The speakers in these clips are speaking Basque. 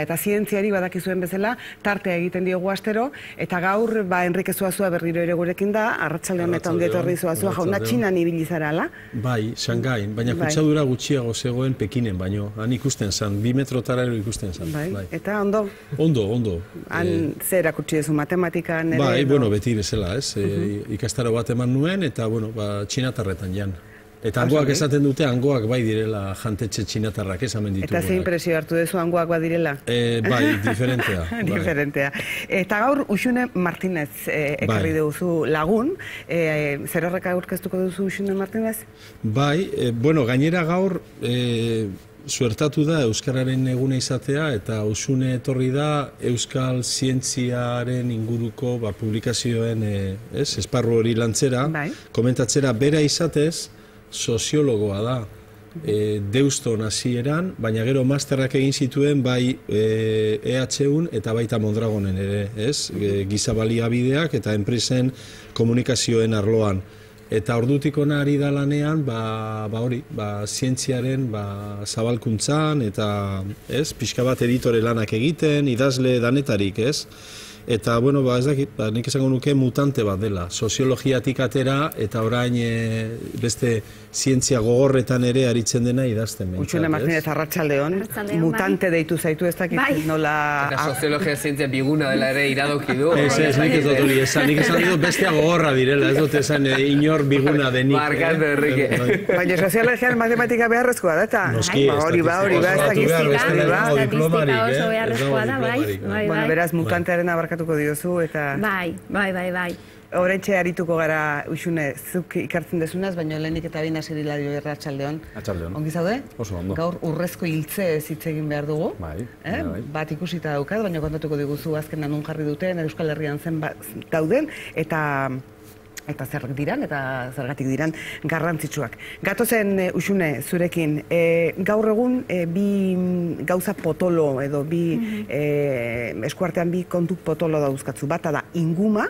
Eta zientziari badakizuen bezala, tartea egiten diogu astero, eta gaur, Enrike Zuazua berriro ere gurekin da, arratsalde honetan ongi etorri Zuazua jauna, Txinan ibili zara, ala? Bai, Shanghaian, baina kutsadura gutxiago zegoen Pekinen baino, han ikusten zan, 2 metrotara ikusten zan. Bai, eta ondo? Ondo. Han zer erakutsi duzu, matematikan ere? Bai, beti bezala, ez, ikastaro bat eman nuen, eta, txinatarretan jan. Eta hangoak esaten dute, hangoak bai direla jantetxe txinatarrak esamen ditugu. Eta zein impresio hartu duzu hangoak badirela? Bai, diferentea. Diferentea. Eta gaur, Uxune Martinez ekarri duzu lagun. Zer horrek aurkeztuko duzu Uxune Martinez? Bai, gainera gaur suertatu da Euskararen eguna izatea, eta Uxune etorri da Euskal Zientziaren inguruko publikazioen esparru hori lantzera, komentatzera bera izatez, soziologoa da, Deuston hasieran, baina gero masterrak egin zituen bai EHUn eta baita Mondragonen ere, giza baliabideak eta enpresen komunikazioen arloan. Eta ordutik hona ari da lanean, zientziaren zabalkuntzan, eta pixka bat editore lanak egiten, idazle danetarik, ez? Eta, ez dakit, nik esango nuke mutante bat dela. Soziologiatik atera eta orain beste zientzia gogorretan ere aritzen dena idazten. Uxune Martinez, arratsaldeon, mutante deitu zaitu ez dakit nola... Eta soziologia zientzia biguna dela ere iradoki du. Ez, nik ez dut hori esan, nik esan dut bestea gogorra direla, ez dut esan inor biguna denik. Barkatu, Enrique. Baina soziologian matematika beharrezkoa da, eta... Noski, beraz, mutantearen abarkatuko diozu, eta... Bai. Horretxe arituko gara, Uxune, zuk ikartzen dezunaz, baina lehenik eta bain hasi Hilario arratsaldeon. Arratsaldeon. Ongi zaude? Oso ondo. Gaur urrezko hiltze hitz egin behar dugu. Bai. Bat ikusita daukat, baina kontatuko diguzu azkenan non jarri duten, Euskal Herrian zen dauden, eta zerrak diran, eta zergatik diran garrantzitsuak. Gatozen, Uxune, zurekin, gaur egun bi gauza potolo edo bi eskuartean bi kontu potolo dauzkatzu. Bata da inguma,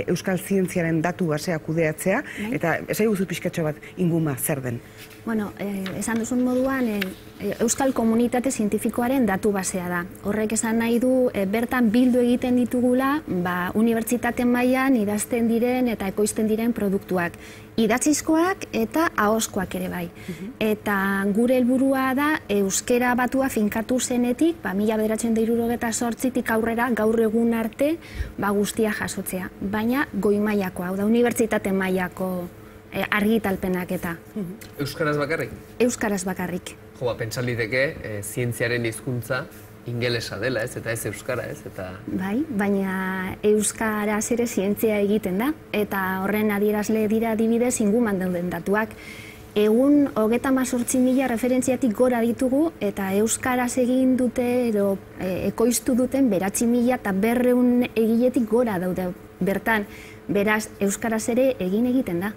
Euskal Zientziaren datu basea kudeatzea, eta esai guzu pixkatxo bat inguma zer den? Bueno, esan duzun moduan, Euskal Komunitate Zientifikoaren datu basea da. Horrek esan nahi du, bertan bildu egiten ditugula, unibertsitate mailan idazten diren eta ekoizten diren produktuak. Idatzizkoak eta ahozkoak ere bai. Eta gure helburua da, euskera batua finkatu zenetik, 1978tik aurrera, gaur egun arte, guztia jasotzea. Baina goi mailakoa, hau da, unibertsitate mailako argitalpenak eta. Euskaraz bakarrik? Euskaraz bakarrik. Pentsan liteke, zientziaren hizkuntza ingelesa dela, ez, eta ez euskara, ez, eta... Bai, baina euskaraz ere zientzia egiten da, eta horren adierazle dira adibidez inguman dauden datuak. Egun 38.000 referentziatik gora ditugu, eta euskaraz egin dute, edo ekoiztu duten 9.000 eta 200 egiletik gora daude bertan. Beraz, euskaraz ere egiten da.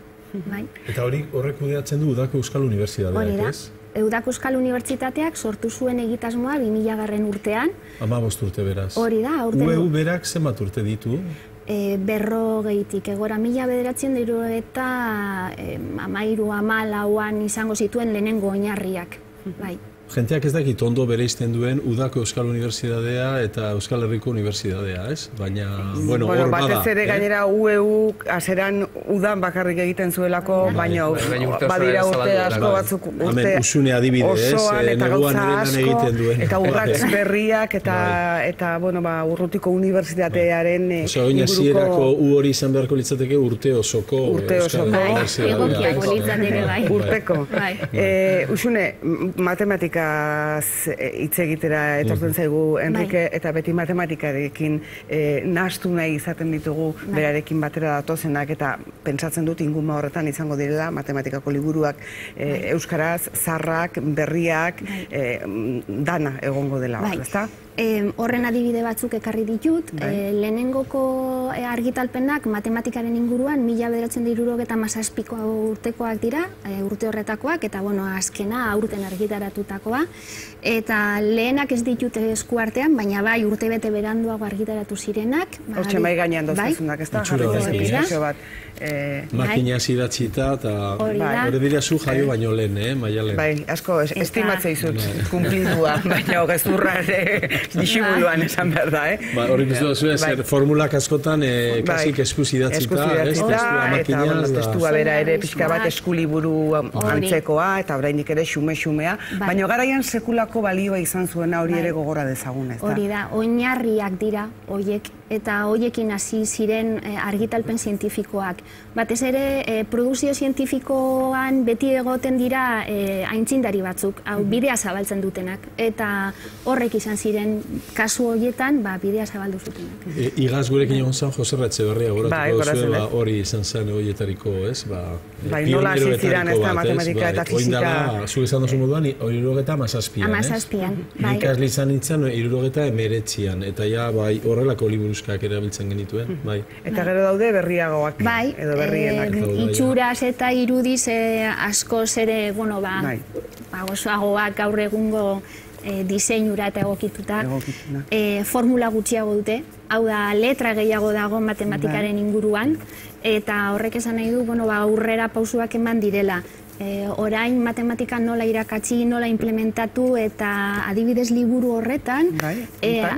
Eta horrek kudeatzen du Udako Euskal Unibertsitateak, ez? Udako Euskal Unibertsitateak sortu zuen egitasmoa 2000 urtean. 15 urte beraz. Hori da, UEU berak zenbat urte ditu? 40-tik, egora 1900 eta 13-14an izango zituen lehenengo oinarriak. Jenteak ez dakit ondo bereizten duen Udako Euskal Unibertsitatea eta Euskal Herriko Unibertsitatea, ez? Baina, hor bada. Batez ere gainera UEU aseran udan bakarrik egiten zuelako, baina badira urte asko batzuk urte osoan eta gauza asko, eta urrats berriak eta urrutiko unibertsitatearen inguruko... Hasierako U hori izan beharko litzateke urte osoko egokiako litzateke bai. Urteko. Uxune, matematika hitz egitera etortzen zaigu Enrike, eta beti matematikarekin nahastu nahi izaten ditugu berarekin batera datozenak, eta pentsatzen dut inguma horretan izango direla matematikako liburuak euskaraz, zarrak, berriak, dana egongo dela, ezta? Horren adibide batzuk ekarri ditut, lehenengoko argitalpenak matematikaren inguruan 1977ko urtekoak dira, urte horretakoak, eta azkena aurten argitaratutako egiterakoa, eta lehenak ez ditute eskuartean, baina bai urtebete beranduago argitaratu zirenak. Hortxe mai gainean doztazunak, ez da? Jarri bat. Makina zidatzita, eta hori dira zu jaio baino lehen, Maialen? Bai, asko, estimatzea izut, kumplidua, baina gezurra disimuluan esan behar da, Hori biztu da zer formulak askotan kasik esku zidatzita, eta testua bera ere pixka bat eskuliburu antzekoa, eta orainik ere xume-xumea, baina garaian sekulako balioa izan zuena hori ere gogora dezagun, ez da? Hori da, oinarriak dira, hoiek, eta hoiekin hasi ziren argitalpen zientifikoak. Batez ere, produkzio zientifikoan beti egoten dira aintzindari batzuk, bidea zabaltzen dutenak, eta horrek izan ziren kasu horietan, bidea zabaldu zutenak. Igaz gurekin egon zan, Jose Etxeberria goratuko zuen, hori izan zen horietariko, ez? Nola hasi ziren, ez da, matematika eta fizika. Zuk esan duzu moduan, 77an, Amazazpian, bai. Ikasle izan nintzen, 79an, eta ja, horrelako liburuzkak erabiltzen genituen, bai. Eta gero daude berriagoak, edo berrienak. Itxuraz eta irudiz askoz ere, gozoagoak gaur egungo diseinura eta egokituta. Formula gutxiago dute, hau da, letra gehiago dago matematikaren inguruan, eta horrek esan nahi du, aurrera pausuak eman direla. Orain matematika nola irakatsi, nola implementatu, eta adibidez liburu horretan,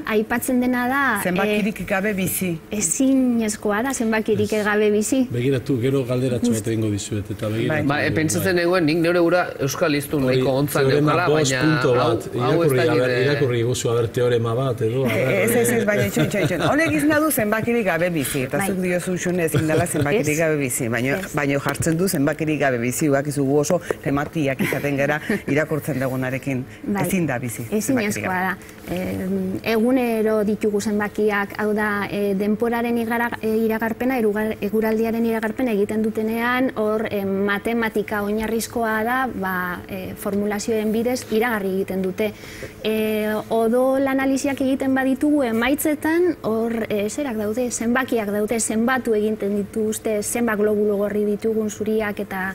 aipatzen dena da... Zenbakirik gabe bizi. Ezinezkoa da, zenbakirik gabe bizi. Begiratu, gero galderatxo bat egingo dizuet, eta begiratu. Pentsatzen eguen, nik nire gura euskal iztun nahiko ontzan neukala, baina hau ez da nire... Irakurri guzu, haber teorema bat, edo... Ez, baina itxon. Honek izan du zenbakirik gabe bizi, eta zuk diozu xune ezin dela zenbakirik gabe bizi, baina jartzen du zenbakirik gabe bizi, gu oso tematiak izaten gara irakurtzen dugunarekin ezin da bizi. Ezinezkoa da. Egunero ditugu zenbakiak, hau da, denporaren iragarpena, eguraldiaren iragarpena egiten dutenean, hor matematika oinarrizkoa da, formulazioen bidez iragarri egiten dute. Odol analiziak egiten baditugu emaitzetan, hor zerak daude, zenbakiak daude, zenbatu egiten dituzte, zenbat globulo gorri ditugun zuriak eta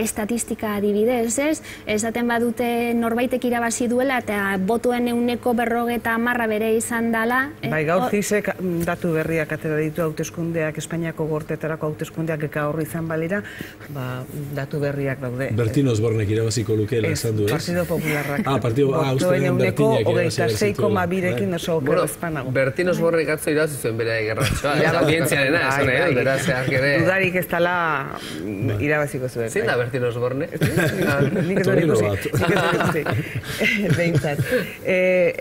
estatistika adibidez, ez? Esaten badute norbaitek irabazi duela eta botoen 150 bere izan dela. Bai, gaur zizek datu berriak atera ditu hauteskundeak, Espainiako gorteetarako hauteskundeak gaur izan balira, datu berriak daude. Bertin Osbornek irabaziko lukeela esan du, ez? Partido Popularrak. Botoen Bertinek irabaziko 26,2rekin oso okerrezpanago. Bertin Osbornek atzo irabazi zuen bere gerratxoa, ez audientziarena, esan edo, berazak ere... Dudarik ez dela irabaziko zuen. Zein da Bertin Osborne? Nik ez dut ikusi. Behintzat.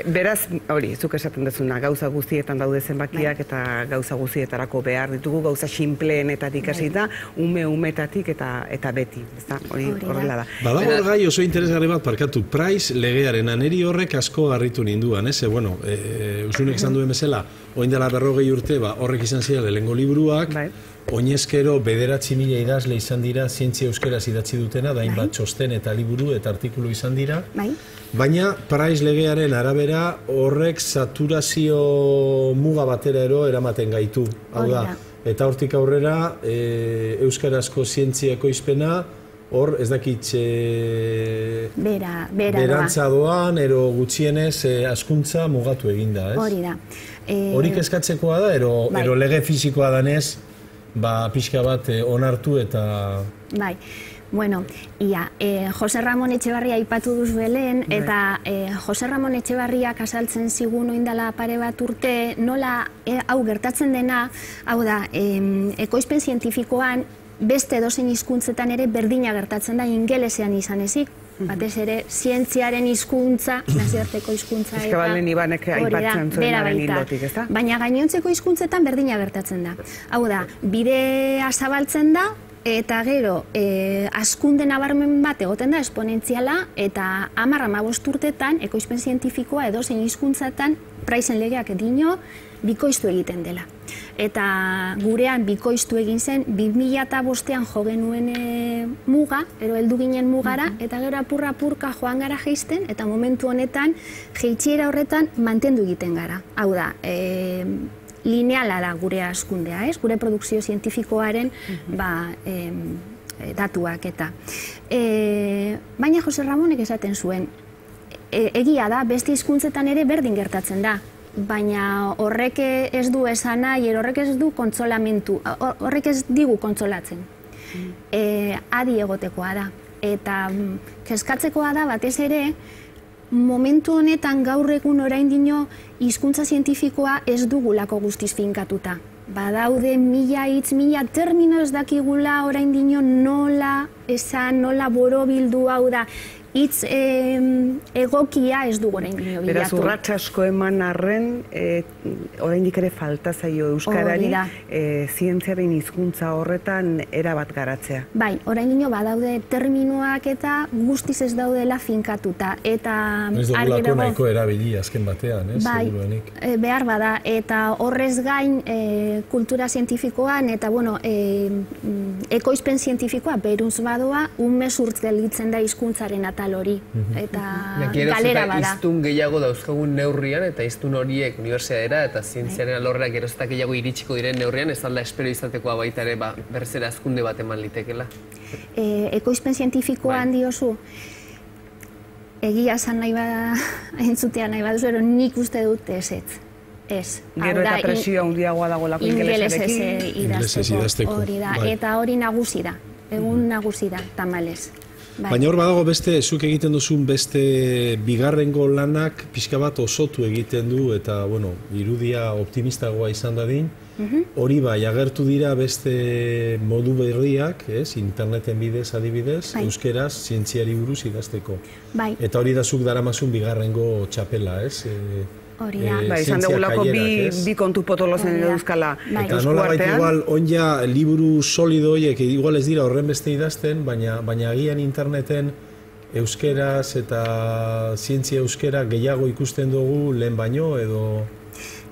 Beraz, hori, zuk esaten dezuna, gauza guztietan daude zenbakiak eta gauza guztietarako behar ditugu, gauza sinpleenetatik hasita, umetatik eta beti. Hori horrela da. Badago gai oso interesgarri bat parkatu, Price legearen aneri horrek asko harritu ninduan, ez? Bueno, usunek esan duen bezala, oin dela 40 urte, horrek izan zira lehengo liburuak, oinezkero 9.000 idazle izan dira zientzia euskeraz idatzi dutena, da hainbat txosten eta liburu eta artikulu izan dira. Baina Price legearen arabera horrek saturazio muga batera eramaten gaitu. Hau da, eta hortik aurrera euskarazko zientzia ekoizpena hor ez dakitxe berantza doan, ero gutxienez askuntza mugatu eginda, ez? Hori da. Horik eskatzekoa da, ero lege fisikoa danez, pixka bat onartu eta... Bai, bueno, Jose Ramon Etxebarria aipatu duzu lehen, eta Jose Ramon Etxebarriak azaltzen zigun oindala pare bat urte, nola hau gertatzen dena, hau da, ekoizpen zientifikoan beste edozein hizkuntzetan ere berdina gertatzen da ingelesean izan ezik. Batez ere, zientziaren hizkuntza, nazioarteko hizkuntza eta... Eskabalen Ibanek aipatzen zuenaren hildotik, ez da? Baina gainontzeko hizkuntzetan berdina gertatzen da. Hau da, bidea zabaltzen da, eta gero, hazkunde nabarmen bat egoten da, esponentziala, eta 10-15 urtetan, ekoizpen zientifikoa edozein hizkuntzatan, Pricen legeak dio, bikoiztu egiten dela. Eta gurean bikoiztu egin zen, 2005an jo genuen muga, heldu ginen mugara, eta gero apurka joan gara jeisten, eta momentu honetan, jeitsiera horretan mantendu egiten gara. Hau da, lineala da gure hazkundea, ez? Gure produkzio zientifikoaren datuak eta. Baina Jose Ramonek esaten zuen, egia da, beste hizkuntzetan ere berdin gertatzen da. Baina horrek ez du esan nahi, horrek ez du kontsolamentu, horrek ez digu kontsolatzen. Adi egotekoa da. Eta kezkatzekoa da batez ere, momentu honetan gaur egun oraindino hizkuntza zientifikoa ez dugulako guztiz finkatuta. Badaude mila hitz, mila termino ez dakigula oraindino nola esan, nola borobildu, hau da, hitz egokia ez dugu oraindino bilatu. Beraz, urrats asko eman arren, oraindik ere falta zaio euskarari zientziaren hizkuntza horretan erabat garatzea. Bai, oraindino badaude terminoak eta guztiz ez daudela finkatuta. Eta ez dugulako nahiko erabili azken batean, seguruenik. Behar bada, eta horrez gain kultura zientifikoan eta, bueno, ekoizpen zientifikoa beruz badoa, umezurtz gelditzen da hizkuntzaren atal hori. Eta galera bada. Hiztun gehiago dauzkagun neurrian, eta hiztun horiek unibertsitatera eta zientziaren alorrera gerozetak gehiago iritsiko diren neurrian, ez alda espero izatekoa baita ere berriz ere hazkunde bat eman litekela. Ekoizpen zientifikoan diozu, egia esan nahi bada, entzutea nahi baduzu, nik uste dut ez. Gero eta presio handiagoa dagoelako ingelesarekin. Ingelesez idazteko. Hori da, eta hori nagusi da, egun nagusi da, tamalez. Baina hor badago beste, zuk egiten duzun beste bigarrengo lanak pixka bat osotu egiten du eta, bueno, irudia optimistagoa izan dadin. Hori bai, agertu dira beste modu berriak, interneten bidez adibidez, euskeraz zientziari buruz idazteko. Eta hori da zuk daramazun bigarrengo txapela, ez? Hori da. Izan dugulako bi kontu potolozen euskala eskuartean. Eta nola baita igual, onja liburu solido horiek, igual ez dira horren beste idazten, baina agian interneten euskeraz eta zientzia euskera gehiago ikusten dugu lehen baino edo...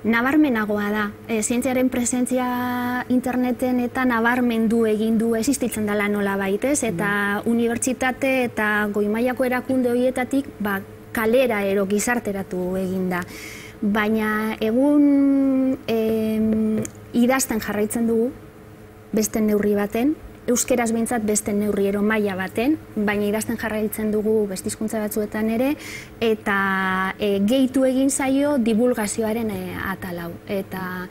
Nabarmenagoa da. Zientziaren presentzia interneten eta nabarmendu egin du existitzen dela nola baitez, eta unibertsitate eta goi-mailako erakunde horietatik kalera ero gizarteratu egin da. Baina egun idazten jarraitzen dugu, beste neurri baten, euskeraz behintzat beste neurri ero maila baten, baina idazten jarraitzen dugu beste hizkuntza batzuetan ere, eta gehitu egin zaio divulgazioaren atalau. Eta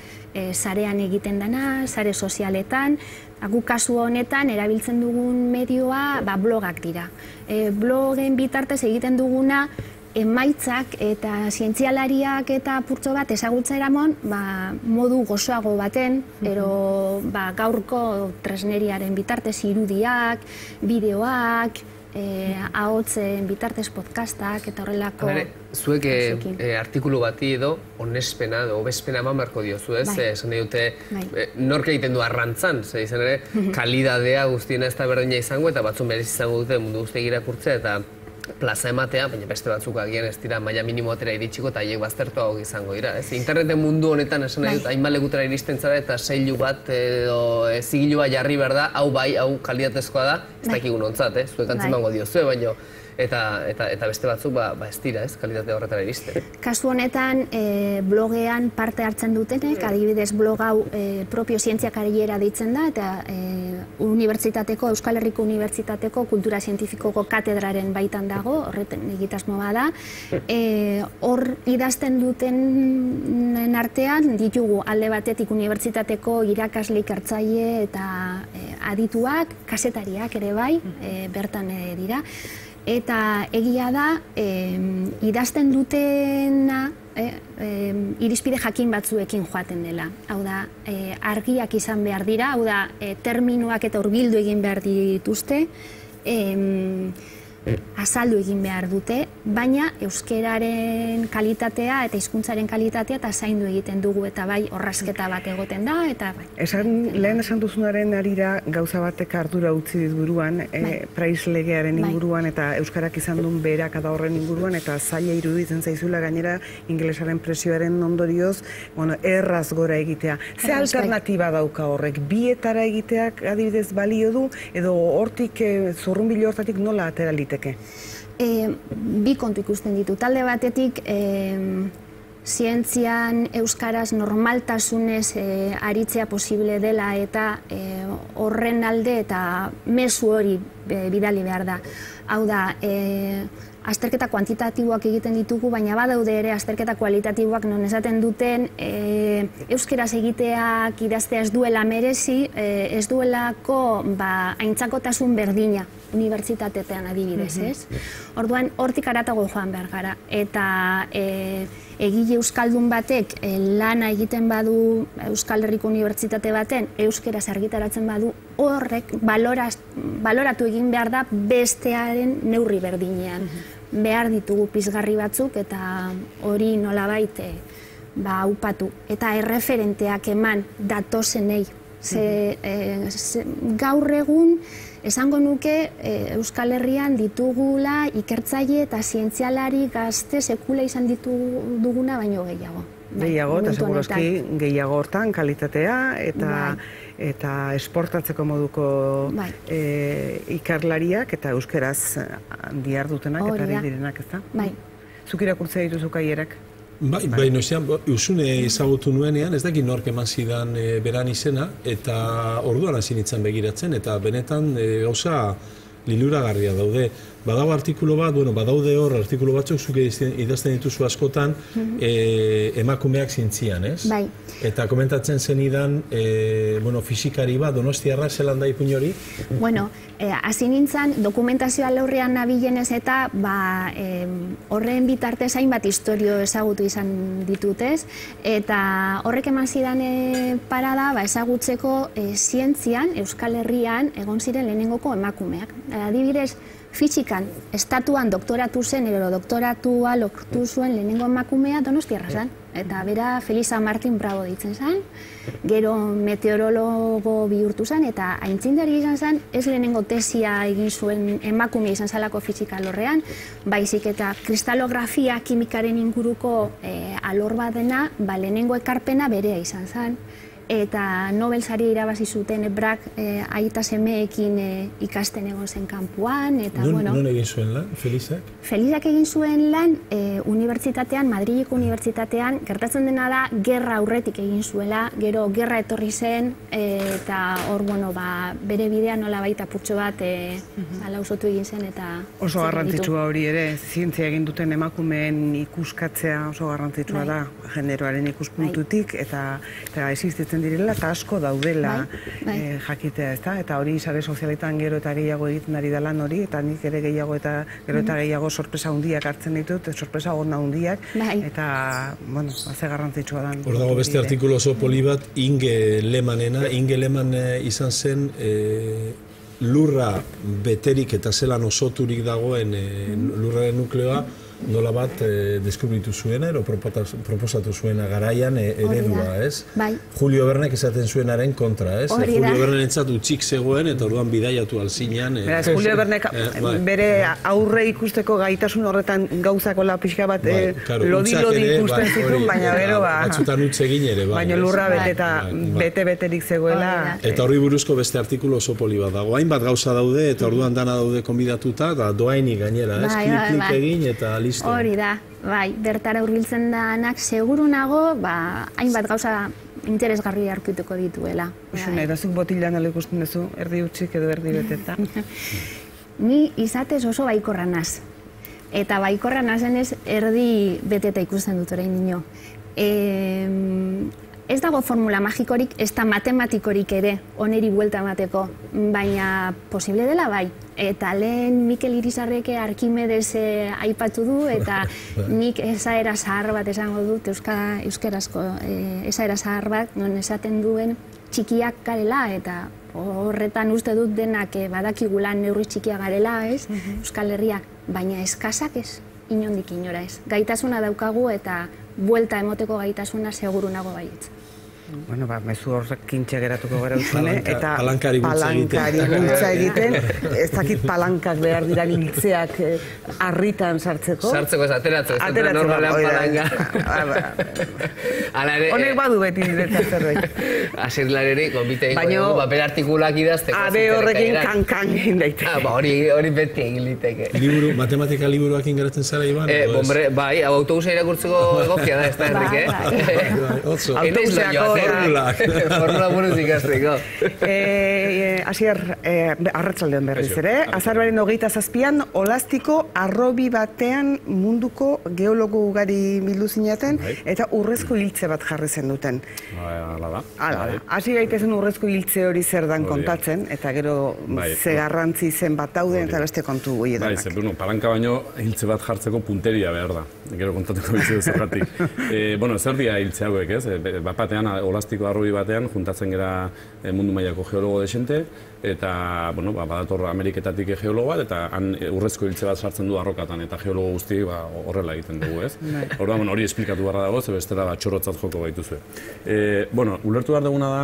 sarean egiten dena, sare sozialetan, gu kasu honetan erabiltzen dugun medioa blogak dira. Blogen bitartez egiten duguna emaitzak eta zientzialariak eta purtso bat ezagutza eramon modu gozoago baten, ero gaurko tresneriaren bitartez irudiak, bideoak, ahotzen bitartez podcastak eta horrelako... Zuek artikulu bati edo onespena edo obespena eman beharko diozu, ez? Esan nahi dute, nork egiten du arrantzan, izan ere, kalidadea guztiena ez da berdina izango eta batzun berez izango dute mundu guztiak irakurtzea eta plaza ematea, baina beste batzuk agian ez dira maila minimoatera iritsiko eta haiek baztertuago izango dira. Interneten mundu honetan esan nahi dut, hainbat lekutera iristen zara eta seilu bat edo zigilua jarri behar da, hau bai, hau kalitatezkoa da, ez dakigun ontzat, zuek antzimango diozue, baina eta beste batzuk ez dira, kalitate horretara iristen. Kasu honetan, blogean parte hartzen dutenek, adibidez blog hau propio zientzia karriera deitzen da, eta unibertsitateko, Euskal Herriko Unibertsitateko kultura zientifikoko katedraren baitan dago, horretan egitasmo bada. Hor idazten duten artean, ditugu alde batetik unibertsitateko irakasle ikertzaile eta adituak, kazetariak ere bai, bertan dira. Eta egia da, idazten dutena irizpide jakin batzuekin joaten dela. Hau da, argiak izan behar dira, hau da, terminoak eta hurbildu egin behar dituzte, azaldu egin behar dute, baina euskeraren kalitatea eta hizkuntzaren kalitatea eta zaindu egiten dugu eta bai orrazketa bat egoten da eta bai. Lehen esan duzunaren arira gauza batek ardura utzi dit buruan, Price legearen inguruan eta euskarak izan duen beherakada horren inguruan eta zaila iruditzen zaizula gainera ingelesaren presioaren ondorioz, erraz gora egitea. Ze alternatiba dauka horrek? Bietara egiteak adibidez balio du edo hortik zurrunbilo hortatik nola atera liteke? Bi kontu ikusten ditu. Talde batetik, zientzian euskaraz normaltasunez aritzea posible dela eta horren alde eta mezu hori bidali behar da. Hau da, azterketa kuantitatiboak egiten ditugu, baina badaude ere azterketa kualitatiboak non esaten duten euskeraz egiteak idaztea ez duela merezi, ez duelako aintzakotasun berdina unibertsitatean adibidez, ez? Orduan, hortik haratago joan behar gara. Eta egile euskaldun batek lana egiten badu Euskal Herriko Unibertsitate baten euskeraz argitaratzen badu, horrek baloratu egin behar da bestearen neurri berdinean. Behar ditugu pizgarri batzuk eta hori nolabait upatu. Eta erreferenteak eman datozenei. Gaur egun, esango nuke Euskal Herrian ditugula ikertzaile eta zientzialari gazte sekula izan duguna baino gehiago. Gehiago, eta segurazki gehiago hortan kalitatea eta esportatzeko moduko ikerlariak eta euskeraz dihardutenak eta direnak, ez da? Bai. Zuk irakurtzea dituzu kaierak? Bai, noizean, Usune ezagutu nuenean, ez dakit nork eman zidan beran izena, eta orduan hasi nintzen begiratzen, eta benetan gauza liluragarria daude. Badago artikulu bat, badaude hor artikulu batzuk zuk idazten dituzu askotan emakumeak zientzian, ez? Bai. Eta komentatzen zenidan, fisikari bat, Donostiarra, zelan da ipuin hori? Hasi nintzen, dokumentazioa laurrean nabilenez eta horren bitartez hainbat istorio ezagutu izan ditutez, eta horrek eman zidan parada ezagutzeko zientzian, Euskal Herrian, egon ziren lehenengoko emakumeak. Adibidez, fisikan, estatuan doktoratu zen, doktoratua lortu zuen lehenengo emakumea Donostiarra zen. Eta bera Felisa Martin Bravo ditzen zen, gero meteorologo bihurtu zen, eta aintzindari izan zen, ez lehenengo tesia egin zuen emakume izan zelako fisika alorrean, baizik eta kristalografia kimikaren inguruko alor bat dena, lehenengo ekarpena berea izan zen. Eta Nobel saria irabazi zuten Brak aita semeekin ikasten egon zen kanpoan. Non egin zuen lan, Felisak? Felisak egin zuen lan unibertsitatean, Madrileko unibertsitatean, gertatzen dena da, gerra aurretik egin zuela, gero gerra etorri zen, eta hor, bere bidea nola baita putxo bat lausotu egin zen, eta... Oso garrantzitsua hori ere, zientzia egin duten emakumeen ikuskatzea oso garrantzitsua da, generoaren ikuspuntutik, eta existitzen direla eta asko daudela jakitea, ezta? Eta hori sare sozialetan gero eta gehiago egiten ari da lan hori, eta nik ere gero eta gehiago sorpresa handiak hartzen ditut, sorpresa ona handiak, eta, ze garrantzitsua da. Hor dago beste artikulu oso poli bat, Inge Lemanena. Inge Leman izan zen lurra beterik eta zelan osoturik dagoen lurraren nukleoa, nola bat deskubritu zuena, ero proposatu zuena garaian eredua, ez? Julio Vernek esaten zuenaren kontra, ez? Julio Vernen entzat utxik zegoen, eta orduan bidaiatu alzinean. Beraz, Julio Vernek bere aurre ikusteko gaitasun horretan gauzakola pixka bat lodi ikusten zituen, baina bero batzutan utz egin ere, baina lurra bete-beterik zegoela. Eta horri buruzko beste artikulu oso poli bat dago. Hainbat gauza daude, eta orduan dana daude konbidatuta, eta doainik gainera, ez? Klik egin eta hori da, bertara hurbiltzen danak seguru nago, hainbat gauza interesgarri aurkituko dituela. Eta zuk botilan ala ikusten duzu, erdi utzik edo erdi beteta? Ni izatez oso baikorra naz. Eta baikorra nazenez erdi beteta ikusten dut orain nino. Ez dago formula magikorik, ez da matematikorik ere, oneri buelta emateko, baina posible dela bai. Eta lehen Mikel Irizarreke Arkimedes aipatu du, eta nik esaera zahar bat esango dut, euskerazko esaera zahar bat, non esaten duen txikiak garela, eta horretan uste dut denak badakigula neurri txikia garela, ez, Euskal Herriak, baina eskasak ez, inondik inora ez. Gaitasuna daukagu eta buelta emoteko gaitasuna seguru nago baietz. Mezu horrek kintxe geratuko gara Usune, eta palankari bultza egiten, ez dakit palankak behar dira hiltzeak harritan sartzeko. Sartzeko ez, ateratzeko, normalean palanka. Honek badu beti niretzat zerbait. Asirlareri, konbite egin dugu, paper artikulak idazteko. Abe horrekin kankan egin daiteke. Hori beti egin liteke. Matematika liburuak ingaratzen zara, Iban? Bai, autobusa irakurtzeko egokia da, ez da, Enrique? Autobuseako Formula buruz ikasteko. Asier, arratsaldean berriz ere, azaroaren 27an Olastiko harrobi batean munduko geologo ugari bildu zinaten, eta urrezko hiltze bat jarri zen duten. Hala da. Hasi gaitezen urrezko hiltze hori zer dan kontatzen, eta gero ze garrantzi zen bat dauden eta beste kontu goiedanak. Palanka baino hiltze bat jartzeko punteria behar da. Gero kontatuko bizu zergatik. Zer dira hiltze hauek, ez? Batean, Olastiko harrobi batean, juntatzen gara mundu mailako geologo desente, eta, badator Ameriketatik geologo bat, eta han urrezko hiltze bat sartzen du arrokatan, eta geologo guzti horrela egiten dugu, ez? Orduan, hori esplikatu barra dago, ze bestela txorotzat joko gaituzue. Ulertu behar duguna da,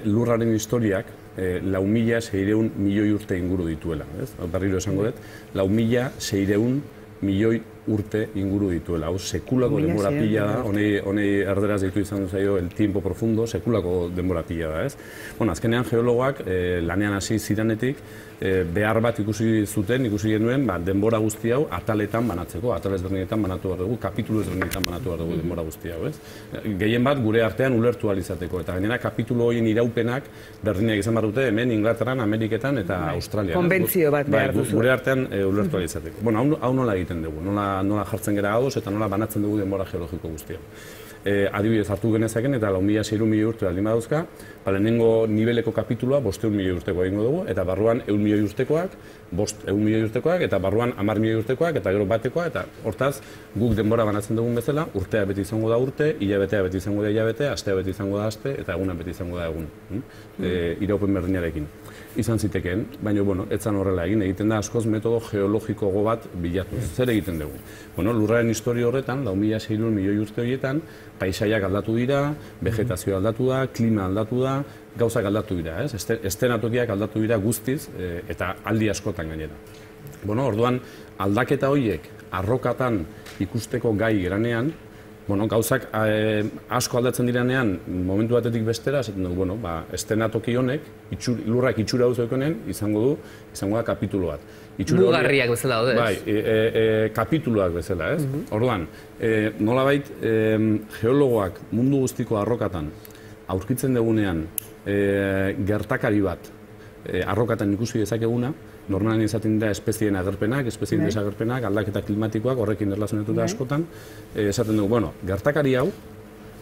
lurraren historiak, 4.600 milioi urte inguru dituela, ez? Berriro esango dut, 4.600 milioi urte inguru dituela. Hau, sekulako denbora pila da, honei erderaz ditu izan duzaio el tiempo profundo, sekulako denbora pila da, ez? Azkenean geologoak lanean hasi ziranetik, behar bat ikusi genuen, denbora guzti hau ataletan banatzeko, atal ezberdinetan banatu behar dugu, kapitulu ezberdinetan banatu behar dugu denbora guzti hau, ez? Gehien bat gure artean ulertu alizateko, eta gainera kapitulu horien iraupenak berdinak izan behar dute hemen Inglaterran, Ameriketan eta Australian. Konbentzio bat behar duzu. Gure artean ulertu alizateko. Hau nola egiten dugu, nola jartzen gara gadoz eta nola banatzen dugu denbora geologiko guztia. Adibidez hartu genezaken eta 4.600 milioi urte aldin badauzka, lehenengo nibeleko kapitulua 500 milioi urteko egingo dugu, eta barruan 100 milioi urtekoak, 500 milioi urtekoak, eta barruan 10 milioi urtekoak, eta gero batekoa, eta hortaz guk denbora banatzen dugun bezala, urtea beti izango da urte, hilabetea beti izango da hilabete, astea beti izango da aste, eta eguna beti izango da egun. Iraupen berdinarekin. Izan zitekeen, baina, etzan horrela egiten da askoz metodo geologiko bat bilatu. Zer egiten dugu? Lurraren historia horretan, 4.600 milioi urte horietan, paisaiak aldatu dira, vegetazioa aldatu da, klima aldatu da, gauzak aldatu dira, ez? Estenatokiak aldatu dira guztiz, eta aldi askotan gainera. Orduan, aldaketa horiek arrokatan ikusteko gai geranean, gauzak asko aldatzen direnean, momentu batetik bestera, esaten dugu, estenatoki honek, lurrak itxura hau zoikonen, izango da kapitulu bat. Mugarriak bezala daude, ez? Bai, kapituluak bezala, ez? Orduan, nolabait, geologoak mundu guztiko arrokatan aurkitzen dugunean gertakari bat arrokatan ikusi dezakeguna, normalen izaten dira espezien agerpenak, espezien desagerpenak, aldaketa klimatikoak, horrekin erlazionatuta askotan, esaten dugu, gertakari hau,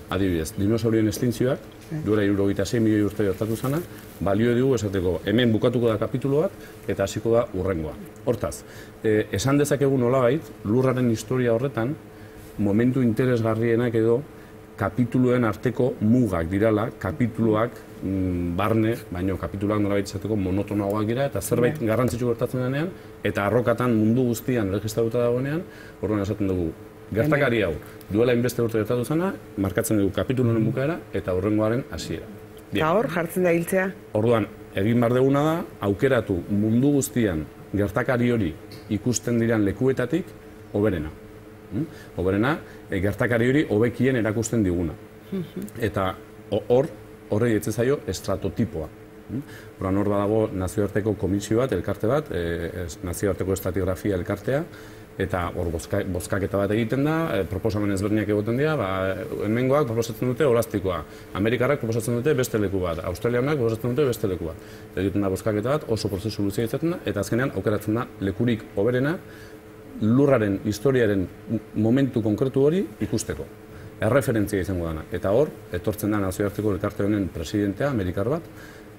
adibidez, dinosaurien estintzioak, duela 76 milioi urte gertatu zana, balio dugu esateko, hemen bukatuko da kapitulu bat, eta hasiko da hurrengoa. Hortaz, esan dezakegu nolabait, lurraren historia horretan, momentu interesgarrienak edo, kapituluen arteko mugak dirala, kapituluak barne, baino kapituluak nolabait izateko monotonagoak dira, eta zerbait garrantzitsu gertatzen denean, eta arrokatan mundu guztian registratuta dagoenean, orduan esaten dugu, gertakari hau, duela inbeste urte gertatu zena, markatzen dugu kapituluen bukaera eta hurrengoaren hasiera. Eta hor, jartzen da hiltzea? Orduan, egin behar duguna da, aukeratu mundu guztian gertakari hori ikusten diran lekuetatik, hoberena. Hoberena, gertakari hori hobekien erakusten diguna. Eta horrei etzezaio estratotipoa. Horan hor badago nazioarteko komisio bat, elkarte bat, nazioarteko estratigrafia elkartea, eta hor bozkaketa bat egiten da, proposamen ezberdinak egoten dira, hemengoak proposatzen dute Olastikoa, Amerikarrak proposatzen dute beste leku bat, Australianak proposatzen dute beste leku bat. Egiten da bozkaketa bat, oso prozesu luzea izaten da, eta azkenean aukeratzen da lekurik hoberena lurraren historiaren momentu konkretu hori ikusteko. Erreferentzia izango dana. Eta hor, etortzen da nazioarteko elkarte honen presidentea, Amerikar bat,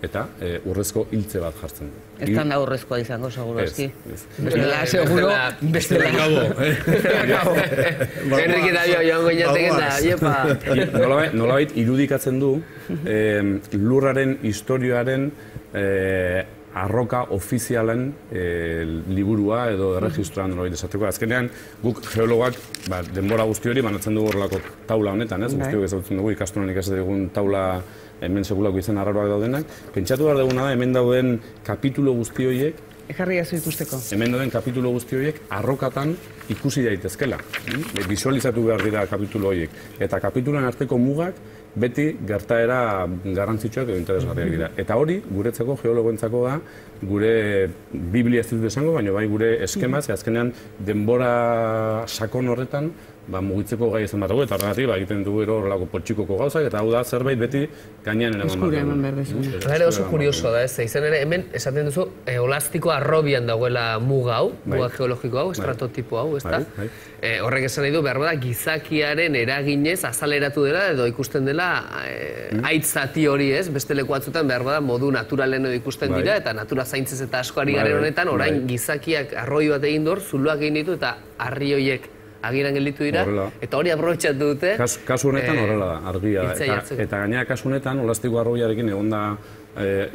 eta urrezko hiltze bat jartzen du. Ez da urrezkoa izango, seguro eski. Bestela, seguro, bestela. Enrique eta joan goinateken da, iepa. Nolabait irudikatzen du lurraren historioaren arroka ofizialen liburua edo erregistroan nolabait esateko. Azkenean, guk geologak denbora guzti hori banatzen dugu horrelako taula honetan, ez? Guztiok ezagutzen dugu ikastolan ikasten dugun taula hemen sekulako izen arraroak daudenak. Pentsatu behar duguna da, hemen dauden kapitulo guzti horiek, ekarri azu ikusteko. Hemen dauden kapitulo guzti horiek arrokatan ikusi daitezkela. Visualizatu behar dira kapitulo horiek. Eta kapituloen arteko mugak beti gertaera garrantzitsuak edo interesgarriak dira. Eta hori, guretzako geologoentzako da, gure Biblia ez dut esango, baina bai gure eskema, azkenean denbora sakon horretan mugitzeko gai izan bat dugu, eta horregatik egiten dugu horrelako poltsikoko gauzak, eta hau da zerbait beti gainean eman behar dezu. Ere oso kurioso da, izan ere, hemen esaten duzu, olastiko arrobian dagoela muga hau, muga geologiko hau, estratotipo hau, ez da? Horrek esan nahi du, behar bada, gizakiaren eraginez azaleratu dela, edo ikusten dela, haitz zati hori ez, beste leku batzutan behar bada, modu naturalen edo ikusten dira, eta natura zaintzez eta asko ari garen honetan, orain gizakiak arroi bat egin dor, zuluak egin ditu, eta harri horiek agiran gelditu dira, eta hori aprobetxatu dute. Kasu honetan horrela da, argia da. Eta gainera kasu honetan, olastiko arroiarekin egonda,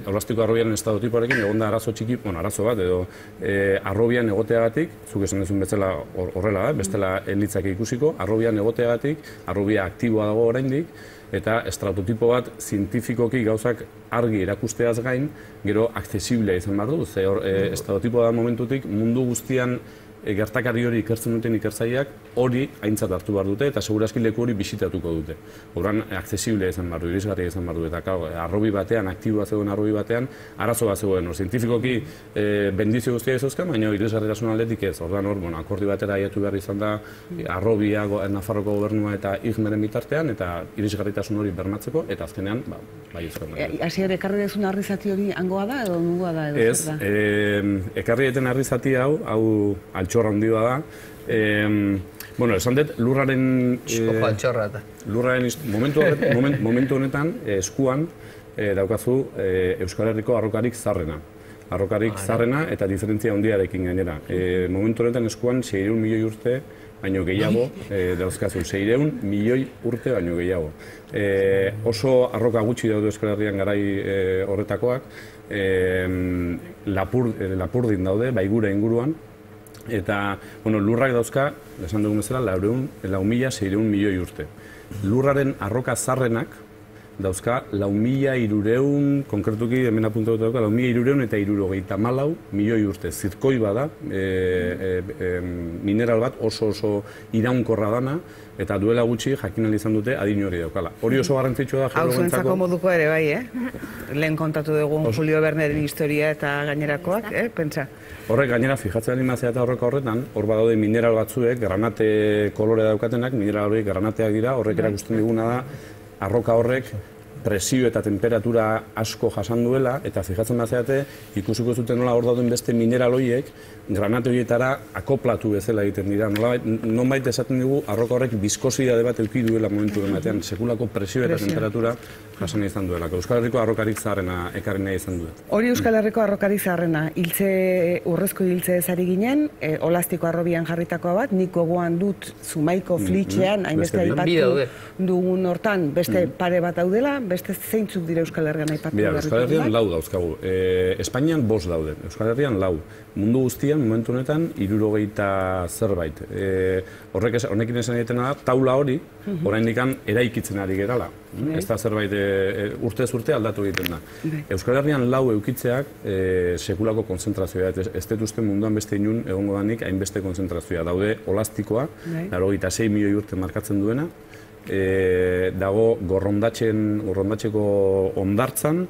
olastiko arroiaren estadotipoarekin egonda arazo txiki, arazo bat, edo arrobian egoteagatik, zuk esan duzun bezala horrela da, bestela elitzak ikusiko, arrobian egoteagatik, arrobia aktiboa dago oraindik, eta estratotipo bat zientifikoki gauzak argi erakusteaz gain, gero aksesiblea izan behar du, ze estratotipo da momentutik mundu guztian gertakari hori ikertzen duten ikertzaileak hori aintzat hartu behar dute eta segurazki leku hori bisitatuko dute. Horren aksesiblea izan behar du, irisgarria izan behar du, eta arrobi batean, aktiboa zegoen arrobi batean, arazo bat zegoen. Zientifikoki bendizio guztia izozkan, baina irisgarritasun aldetik ez. Horren akordi batera aiatu behar izan da arrobia, Nafarroko gobernua eta IGMEren bitartean, eta irisgarritasun hori bermatzeko, eta azkenean, bai izan da. Hasier, ekarri dezun arrizati hori hangoa da edo nungoa da? Ez, ekarri eten arrizati hau altxorra handia da. Esan dut, lurraren... altxorra eta. Lurraren momentu honetan, eskuan daukazu Euskal Herriko arrokarik zarrena. Arrokarik zarrena eta diferentzia handiarekin gainera. Momentu honetan eskuan 600 milioi urte baino gehiago dauzkazu. 600 milioi urte baino gehiago. Oso arroka gutxi daude Euskal Herrian garai horretakoak. Lapurdin daude, baigura inguruan. Eta, lurrak dauzka, esan dugun bezala, 4.600 milioi urte. Lurraren arroka zarrenak dauzka 4.300, konkretuki hemen apuntatu dauka, 4.300 eta 74 milioi urte. Zirkoi bada, mineral bat oso iraunkorra dana, eta duela gutxi jakin izan dute adin hori daukala. Hori oso garrantzitsua da geologentzako. Hau moduko ere bai, lehen kontatu dugun Julio Verneren historia eta gainerakoak, pentsa. Horrek gainera, fijatzen animazia eta horreka horretan, hor badaude mineral batzuek, granate kolore daukatenak, mineral horiek granateak dira, horrek erakusten diguna da, arroka horrek presio eta temperatura asko jasan duela, eta fijatzen bazeate, ikusiko zuten nola hor dauden beste mineral horiek, granate horietara akoplatu bezala egiten dira. Nonbait esaten dugu, arroka horrek biskosidade bat eduki duela momentu batean, sekulako presio eta temperatura jasan izan duela. Euskal Herriko arrokarik zaharrena ekarri nahi izan duet. Hori Euskal Herriko arrokarik zaharrena, urrezko hiltze ezari ginen, olastiko arrobian jarritakoa bat, nik gogoan dut Zumaiko flitxean, hainbeste aipatu dugun hortan, beste pare bat daudela, beste zeintzuk dira Euskal Herrian aipatu behar ditugu? Euskal Herrian lau dauzkagu. Espainian 5 daude. Euskal Herrian 4. Mundu guztian, momentu honetan, 70 zerbait. Honekin esan egiten da, taula hori, oraindik eraikitzen ari gerala. Ez da zerbait urtez urte aldatu egiten da. Euskal Herrian 4 eukitzeak sekulako konzentrazioa. Ez dut uste munduan beste inun egongo danik hainbeste konzentrazioa. Daude olastikoa, 96 milioi urte markatzen duena, dago gorrondatxeko ondartzan,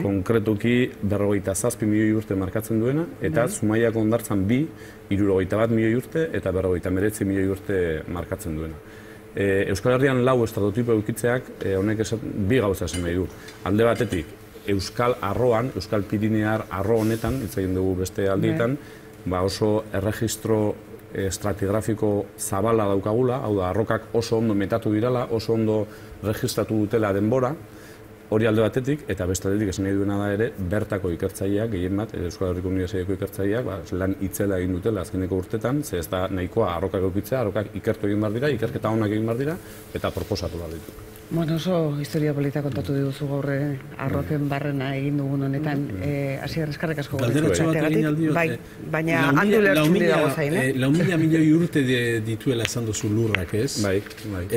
konkretuki 47 milioi urte markatzen duena, eta Zumaiako ondartzan 61 milioi urte eta 59 milioi urte markatzen duena. Euskal Herrian 4 estratotipo eukitzeak honek bi gauza esan nahi du. Alde batetik, Euskal Arroan, Euskal Pirinear arro honetan, hitz egin dugu beste aldietan, oso erregistro estratigrafiko zabala daukagula, hau da, arrokak oso ondo metatu dirala, oso ondo registratu dutela denbora, hori alde batetik, eta beste aldetik esan nahi duena da ere, bertako ikertzaileak, gehien bat, Euskal Herriko Unibertsitateako ikertzaileak, lan itzela egin dutela azkeneko urtetan, ze ez da nahikoa arrokak eukitzea, arrokak ikertu egin behar dira, ikerketa onak egin behar dira, eta proposatu behar ditu. Oso historia polita kontatu diguzu gaur arroken barrena egin dugun honetan. Hasier, eskerrik asko. Galderatxo bat egin aldio. Baina handu lertxun dago zain, 4.000 milioi urte dituela esan duzu lurrak, ez? Bai.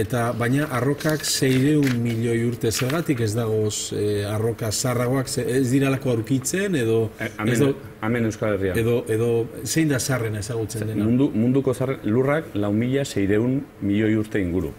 Eta baina arrokak 600 milioi urte zergatik ez dagoz arroka zarragoak, ez diralako aurkitzen edo... Hemen Euskal Herrian. Edo zein da zarrena ezagutzen dena? Munduko zarren lurrak 4.600 milioi urte inguru.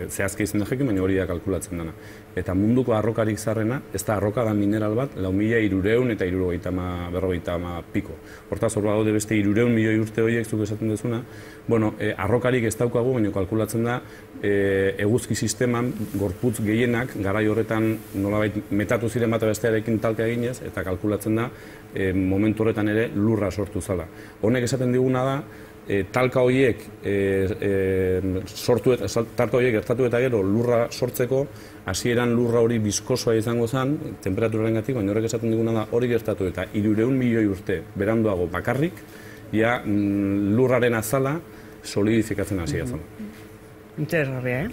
zehazki izan dajekin, baina hori da kalkulatzen dena. Eta munduko arrokarik zarrena, ez da arroka da mineral bat, 4.300 eta 50 piko. Hortaz, hor badaude beste 300 milioi urte horiek zuk esaten duzuna, bueno, arrokarik ez daukagu, baina kalkulatzen da eguzki sisteman gorputz gehienak garai horretan nolabait metatu ziren bat bestearekin talka eginez, eta kalkulatzen da momentu horretan ere lurra sortu zala. Honek esaten diguna da, talka horiek gertatu eta gero lurra sortzeko, hasieran lurra hori biskosoa izango zen, temperaturengatik, baina horrek esaten diguna da hori gertatu eta 300 milioi urte beranduago bakarrik, ja lurraren azala solidifikatzen hasia zen. Interesgarria,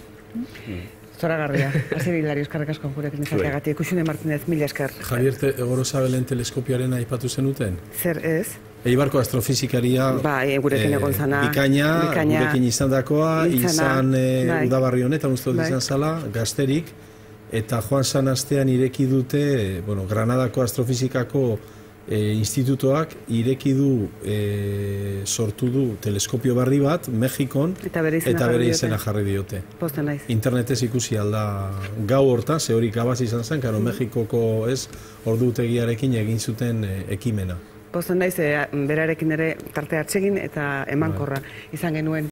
Zoragarria. Hasi Hilari, eskerrik asko gurekin izateagatik. Uxune Martinez, mila esker. Javier Gorosabelen teleskopioaren aipatu zenuten? Zer ez? Eibarko astrofizikaria gurekin egon zana. Bikaina, gurekin izandakoa, izan udabarri honetan uste dut izan zala, gazterik, eta joan zan astean ireki dute, Granadako astrofizikako institutoak ireki du, sortu du teleskopio berri bat, Mexikon, eta bere izena jarri diote. Posten naiz. Internetez ikusi alda gau horta, ze hori gabaz izan zen, karo Mexikoko ordutegiarekin egin zuten ekimena. Posten naiz, berarekin ere tarte atsegin eta emankorra izan genuen.